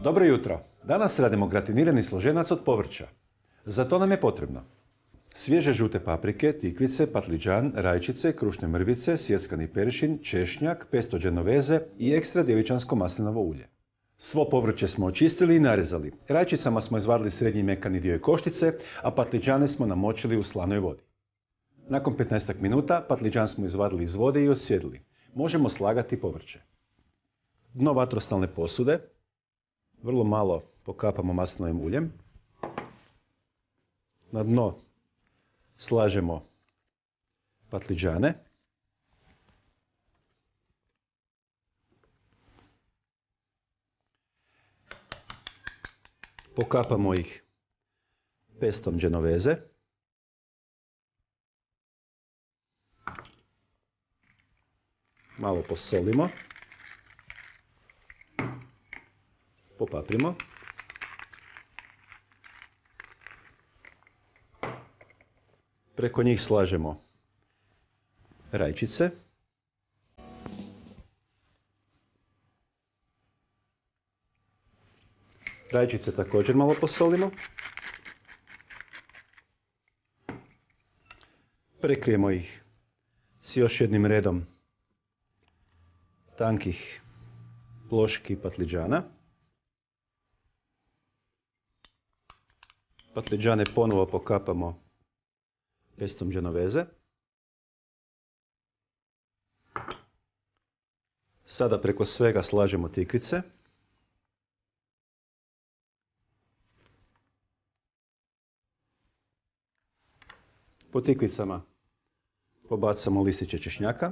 Dobro jutro. Danas radimo gratinirani složenac od povrća. Za to nam je potrebno svježe žute paprike, tikvice, patliđan, rajčice, krušne mrvice, sjeckani peršin, češnjak, pesto genoveze i ekstra djevičansko maslinovo ulje. Svo povrće smo očistili i narezali. Rajčicama smo izvadili srednji mekani dio i koštice, a patliđane smo namočili u slanoj vodi. Nakon 15 minuta patliđan smo izvadili iz vode i odsjedili. Možemo slagati povrće. Dno vatrostalne posude vrlo malo pokapamo maslinovim uljem. Na dno slažemo patliđane. Pokapamo ih pestom genoveze. Malo posolimo. Popaprimo. Preko njih slažemo rajčice. Rajčice također malo posolimo. Prekrijemo ih s još jednim redom tankih ploški patliđana. Patliđane ponovo pokapamo pestom genoveze. Sada preko svega slažemo tikvice. Po tikvicama pobacamo listiće češnjaka.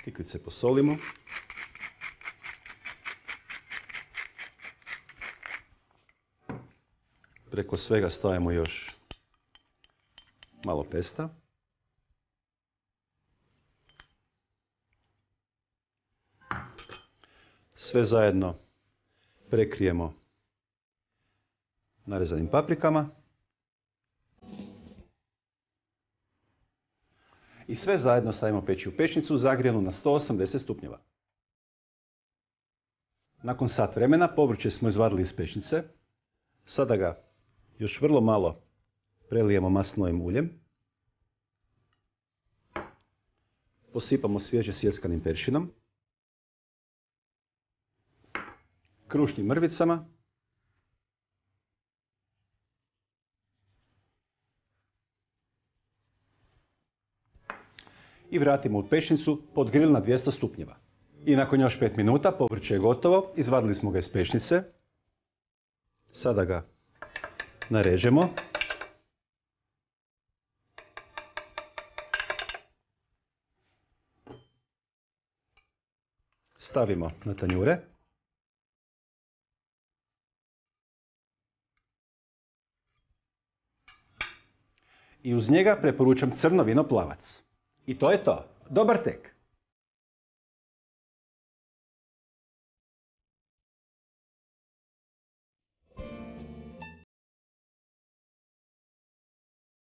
Tikvice posolimo. Preko svega stavimo još malo pesta. Sve zajedno prekrijemo narezanim paprikama. I sve zajedno stavimo peći u pećnicu zagrijanu na 180 stupnjeva. Nakon sat vremena povrće smo izvadili iz pećnice. Sada ga još vrlo malo prelijemo maslinovim uljem. Posipamo svježe sjeckanim peršinom, krušnim mrvicama i vratimo u pećnicu pod grill na 200 stupnjeva. I nakon još 5 minuta povrće je gotovo, izvadili smo ga iz pećnice. Sada ga narežemo. Stavimo na tanjure. I uz njega preporučam crno vino plavac. I to je to. Dobar tek!